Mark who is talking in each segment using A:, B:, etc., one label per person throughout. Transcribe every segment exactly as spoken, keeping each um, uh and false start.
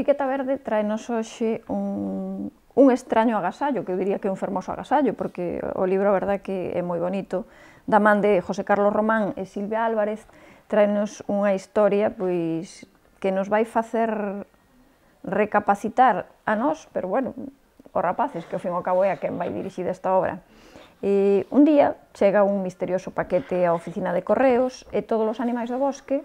A: Etiqueta Verde traenos hoxe un, un extraño agasallo, que eu diría que é un fermoso agasallo, porque o libro, a verdade, que é moi bonito, da man de José Carlos Román e Silvia Álvarez, traenos unha historia pois que nos vai facer recapacitar a nós, pero bueno, os rapaces, que ao fin e ao cabo é a quen vai dirixida esta obra. E un día chega un misterioso paquete á oficina de correos e todos os animais do bosque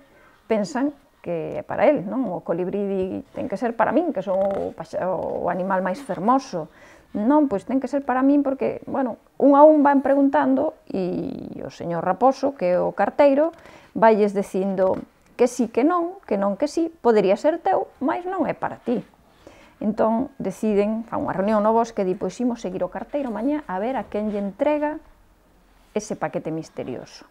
A: pensan que é para el, non? O colibrí ten que ser para min, que son o, o animal máis fermoso. Non, pois ten que ser para min porque, bueno, un a un van preguntando e o señor Raposo, que é o carteiro, vailles dicindo que sí, que non, que non, que sí, podería ser teu, mas non é para ti. Entón, deciden, fan unha reunión no bosque, e di, pois imos seguir o carteiro mañá a ver a quen lle entrega ese paquete misterioso.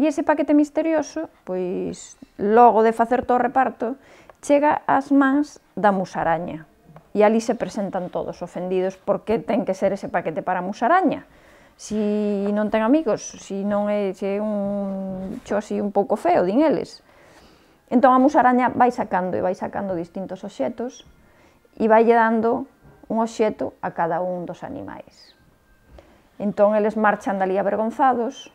A: E ese paquete misterioso, pois, logo de facer todo o reparto, chega ás mans da musaraña. E ali se presentan todos ofendidos porque ten que ser ese paquete para a musaraña. Si non ten amigos, si non é, se é un xo así un pouco feo, din eles. Entón a musaraña vai sacando e vai sacando distintos obxetos e vai dando un obxeto a cada un dos animais. Entón eles marchan dali avergonzados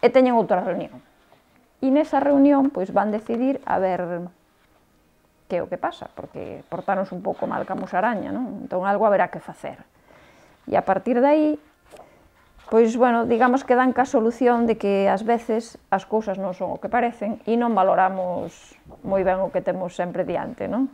A: e teñen outra reunión. E nesa reunión pois van decidir a ver que é o que pasa, porque portáronse un pouco mal ca musaraña, non? Entón algo haberá que facer. E a partir de aí, pois, bueno, digamos que dan ca solución de que ás veces as cousas non son o que parecen e non valoramos moi ben o que temos sempre diante, non?